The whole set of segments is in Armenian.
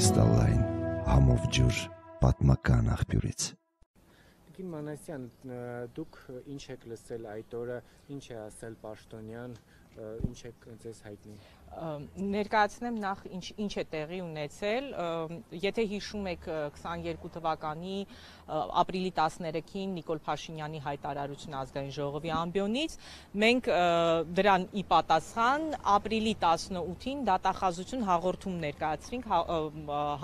Կրիստալային համով ջուր պատմական աղբյուրից։ Տիկին Մանասյան, դուք ինչ եք լսել այդ օրը, ինչ է ասել Պաշտոնյան, ինչ է ձեզ հայտնի։ Ներկայացնեմ նախ ինչ է տեղի ունեցել, եթե հիշում եք 22 թվականի ապրիլի 13-ին Նիկոլ Փաշինյանի հայտարարությունը ազգային ժողովի ամբիոնից, մենք դրան ի պատասխան ապրիլի 18-ին դատախազություն հաղորդում ներկայացրինք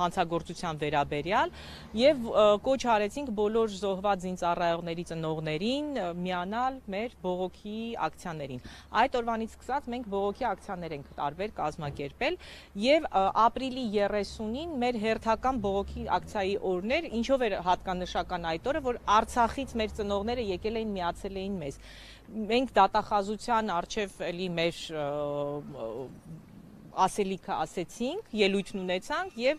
հանցագործության վերաբերյալ եւ կոչ արեցինք բոլոր զոհված զինծառայողների ծնողներին միանալ մեր բողոքի ակցիաներին։ Այդ օրվանից սկսած մենք բողոքի ակցիաներ ենք կազմակերպել եւ ապրիլի 30-ին մեր հերթական բողոքի ակցիայի օրն էր, ինչով էր հատկանշական այդ օրը, որ Արցախից մեր ծնողները եկել էին միացել էին մեզ։ Մենք դատախազության առջև էլի մեր ասելիքը ասեցինք, ելույթն ունեցանք եւ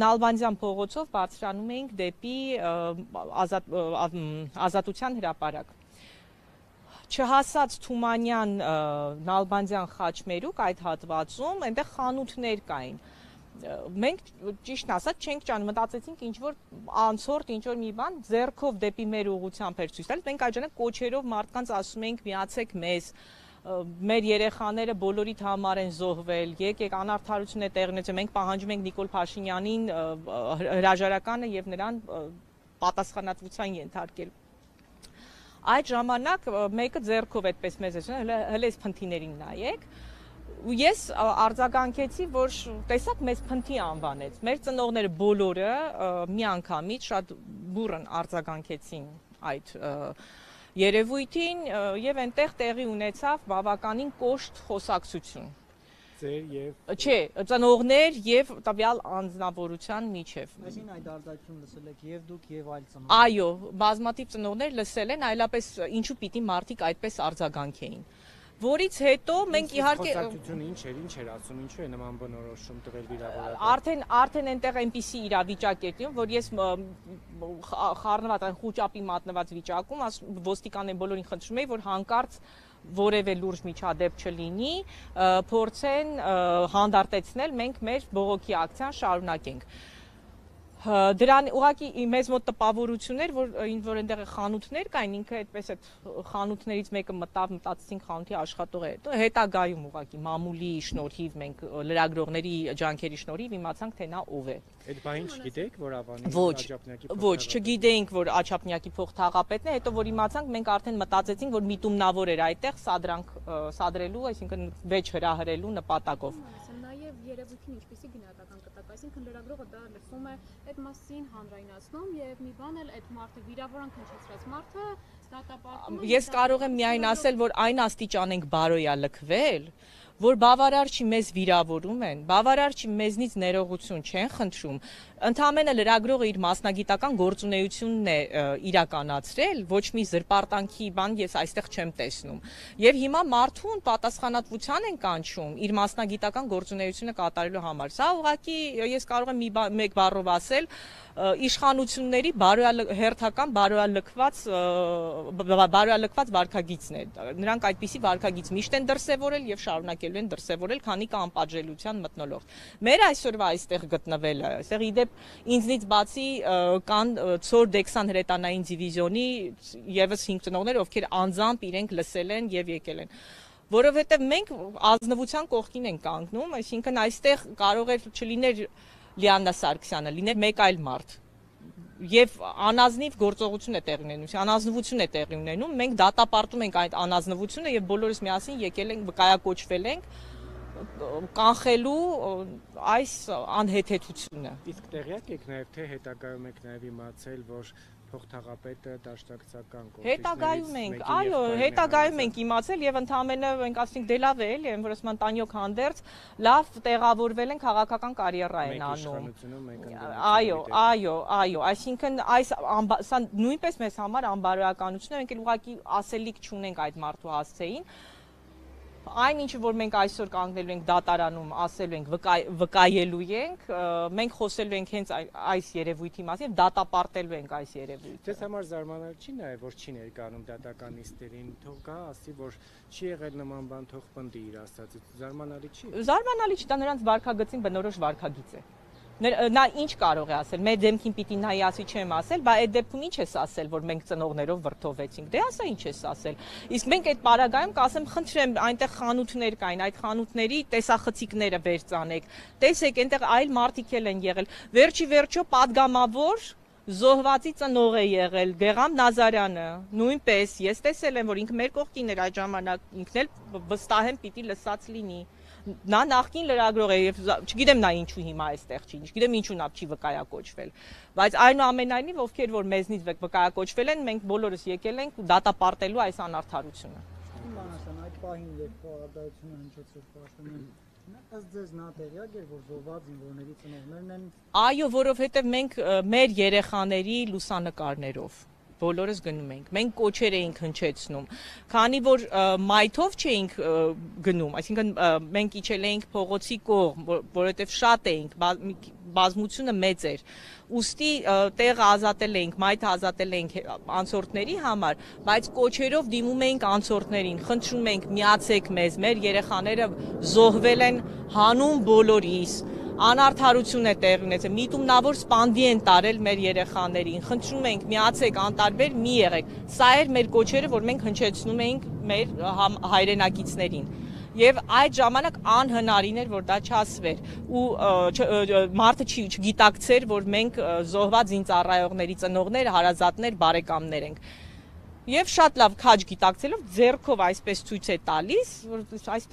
Նալբանդյան փողոցով բարձրանում էինք դեպի Ազատության հրապարակ։ Չհասած Թումանյան Նալբանդյան խաչմերուկ այդ հատվածում այնտեղ խանութներ կային։ Մենք ճիշտն ասած չենք ճան, մտածեցինք ինչ որ անցորդ ինչ որ մի բան ձեռքով դեպի մեր ուղղությամբ էր ցույց տալիս։ Մենք այդ ժամանակ կոչերով մարդկանց ասում էինք միացեք մեզ։ Մեր երեխաները բոլորիդ համար են զոհվել, եկեք անարդարություն է տեղի ունեցել, մենք պահանջում ենք Նիկոլ Փաշինյանին հրաժարականը եւ նրան պատասխանատվության ենթարկել։ Այդ ժամանակ մեկը ձեռքով այդպես մեզ ասում, հələ այս փնթիներին նայեք։ Ու ես արձագանքեցի, որ տեսակ մեզ փնթի անվանեց։ Մեր ծնողները բոլորը միանգամից շատ բուռն արձագանքեցին այդ երևույթին եւ այնտեղ տեղի ունեցավ բավականին կոշտ խոսակցություն։ Ձեր եւ Չէ, ծնողներ եւ տվյալ անձնավորության միջև։ Այսինքն այդ արձակում լսել եք եւ դուք եւ այլ ծնողներ։ Այո, բազմաթիվ ծնողներ լսել են, այլապես ինչու պիտի մարդիկ այդպես արձագանքեին։ Որից հետո մենք իհարկե խոսակցությունը ինչ էր ասում, ինչու է նման բնորոշում տվել վիրավորական։ Արդեն այնտեղ այնպիսի իրավիճակ էր տիրում, որ ես խառնված այն խուճապի մատնված վիճակում ոստիկաններին բոլորին խնդրում էի, որ հանկարծ որևէ լուրջ միջադեպ չլինի, փորձեն հանդարտեցնել, մենք մեր բողոքի ակցիան շարունակենք։ Դրան ուղղակի մեզ մոտ տպավորություն էր, որ այնտեղ խանութներ կային, ինքը այդպես այդ խանութներից մեկը մտածեցինք խանութի աշխատող է։ Հետագայում ուղղակի մամուլի շնորհիվ մենք լրագրողների ջանքերի շնորհիվ իմացանք, թե նա ով է։ Այդ բանին չգիտեիք, որ Ավանի Աչափնյակի փոխ Ոչ, չգիտեինք, որ Աչափնյակի փոխթաղապետն է, հետո որ իմացանք, մենք արդեն մտածեցինք, որ միտումնավոր էր այդտեղ սադրելու, այսինքն վեճ հրահրելու նպատակով։ Նաև երևույթին ինչպեսի գնահատական կտակ, այսինքն լրագրողը դա լսում է այդ մասին հանրայնացնում եւ մի բան էլ այդ մարդը վիրավորանք հնչեցրած մարդը դատապարտում է։ Ես կարող եմ միայն ասել, որ այն աստիճան ենք բարոյալքվել, որ բավարար չի մեզ վիրավորում են, բավարար չի մեզնից ներողություն չեն խնդրում, ընդամենը լրագրողը իր մասնագիտական գործունեությունն է իրականացրել, ոչ մի զրպարտանքի բան ես այստեղ չեմ տեսնում։ Եվ հիմա մարդուն պատասխանատվության են կանչում իր մասնագիտական գործունեությունը կատարելու համար։ Սա ուղղակի ես կարող եմ մեկ բառով ասել, իշխանությունների հերթական բարոյալքված վարքագիծն է։ Նրանք այդպիսի վարքագիծ միշտ են դրսևորել եւ շարունակելու են դրսևորել, քանի կա անպատժելիության մթնոլորտ։ Մեր այսօրվա այստեղ գտնվելը, այստեղ իդեպ ինձնից բացի կան Ցոր Դեքսան հրետանային դիվիզիոնի եւս 5 ծնողներ, ովքեր անձամբ իրենք լսել են եւ եկել են։ Որովհետեւ մենք ազնվության կողքին ենք կանգնում, այսինքն այստեղ կարող է չլիներ Լիաննա Սարգսյանը, լիներ մեկ այլ մարդ։ Եվ անազնիվ գործողություն է տեղի ունենում, անազնվություն է տեղի ունենում, մենք դատապարտում ենք այդ անազնվությունը եւ բոլորս միասին եկել ենք, վկայակոչվել ենք կանխելու այս անհեթեթությունը։ Իսկ տեղյակ եք նաեւ թե հետագայում եք նաեւ իմացել, որ փոխթաղապետը դաշնակցական Հետագայում ենք, այո, հետագայում ենք իմացել եւ ընդհանրապես մենք ասենք դե լավ է, էլի, որ ասում են Տանյոկ հանդերձ, լավ տեղավորվել են քաղաքական կարիերա են անում։ Այո, այսինքն սա նույնպես մեզ համար անբարոյականություն է, մենք ուղղակի ասելիք չունենք այդ մարդու հասցեին։ Այն ինչը որ մենք այսօր կանգնելու ենք դատարանում, ասելու ենք, վկայելու ենք, մենք խոսելու ենք հենց այս երևույթի մասին, դատապարտելու ենք այս երևույթը։ Ձեզ համար զարմանալի չի նաև որ չի ներկայանում դատականիստերին, թող գա ասի, որ չի եղել նման բան, թող պնդի իր ասածը։ Զարմանալի չի։ Զարմանալի չի, դա նրանց վարքագծին բնորոշ վարքագիծ է։ Նա ինչ կարող է ասել, մեր դեմքին պիտի նայի ասի չեմ ասել, բայց այդ դեպքում ինչ ես ասել, որ մենք ծնողներով վրդովվեցինք, դե ասա ինչ ես ասել, իսկ մենք այդ պարագայում կասեմ, խնդրեմ, այնտեղ խանութներ կային, այդ խանութների տեսախցիկները վեր ծանեք, տեսեք, այնտեղ այլ մարդիկ էլ են եղել, վերջի վերջո պատգամավոր զոհվածի ծնող է եղել Գեղամ Նազարյանը, նույնպես ես տեսել եմ, որ ինքը մեր կողքին էր այդ ժամանակ, ինքն էլ վստահ եմ պիտի լսած լինի։ Նա նախկին լրագրող է եւ չգիտեմ նա ինչու հիմա այստեղ չի, չգիտեմ ինչու նա չի վկայակոչվել, բայց այնուամենայնիվ ովքեր որ մեզնից վկայակոչվել են, մենք բոլորս եկել ենք դատապարտելու այս անարդարությունը։ Մանասան այդ պահին երբ խորհրդարությունը հնչեցրեց պաշտոնին, ըստ ձեզ նա տեղյակ էր, որ զոհված զինվորների ծնողներն են։ Այո, որովհետեւ մենք մեր երեխաների լուսանկարներով բոլորս գնում ենք։ Մենք կոչեր էինք հնչեցնում, քանի որ մայթով չէինք գնում, այսինքն մենք իջել էինք փողոցի կողմ, որովհետև շատ էինք, բազմությունը մեծ էր։ Ուստի տեղը ազատել էինք, մայթը ազատել էինք անցորդների համար, բայց կոչերով դիմում էինք անցորդներին, խնդրում ենք միացեք մեզ, մեր երեխաները զոհվել են հանուն բոլորիս։ Անարդարություն է տեղ ունեցել, միտումնավոր սպանդի են տարել մեր երեխաներին, խնդրում ենք միացեք, անտարբեր մի եղեք, սա էր մեր կոչերը, որ մենք հնչեցնում էինք մեր հայրենակիցներին, եւ այդ ժամանակ անհնարին էր, որ դա չասվեր, ու մարդը չգիտակցեր, որ մենք զոհված զինծառայողների ծնողներ, հարազատներ, բարեկամներ ենք, եւ շատ լավ քաջ գիտակցելով ձեռքով այսպես ցույց է տալիս, որ այս